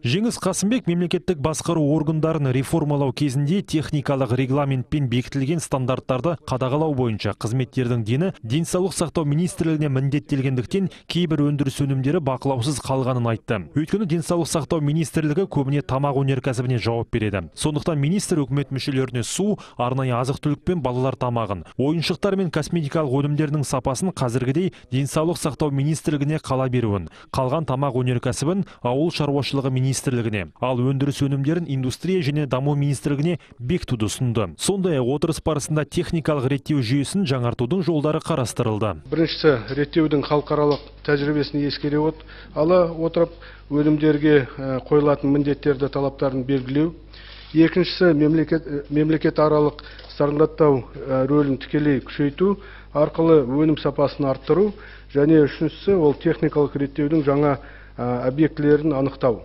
Жеңіс Қасымбек мемлекеттік басқару органдарын реформалау кезінде техникалық регламентпен бекітілген стандарттарды қадағалау бойынша қызметтердің дені денсаулық сақтау министрлігіне міндеттелгендіктен кейбір өндіріс өнімдері бақылаусыз қалғанын айтты. Өйткені денсаулық сақтау министрлігі көбіне тамақ өнеркәсібіне жауап береді. Сондықтан министр үкімет мүшелеріне су, арнайы азық-түлік пен балалар тамағын, ойыншықтар мен косметикалық өнімдердің сапасын қазіргідей денсаулық сақтау министрлігіне қала беруін, қалған тамақ өнеркәсібін ауыл шаруашылығы министрлігіне, ал өндіріс өнімдерін индустрия және даму министрлігіне бекітуді ұсынды. Сондай-ақ отырыс барысында техникалық реттеу жүйесін жаңартудың жолдары қарастырылды. Біріншісі, реттеудің халықаралық тәжірибесін ескере ала отырып, өнімдерге қойылатын міндеттерді талаптарын белгілеу. Екіншісі, мемлекет аралық стандарттау рөлін тікелей күшейту арқылы өнім сапасын арттыру. Және үшіншісі, ол техникалық реттеудің жаңа объектілерін анықтау.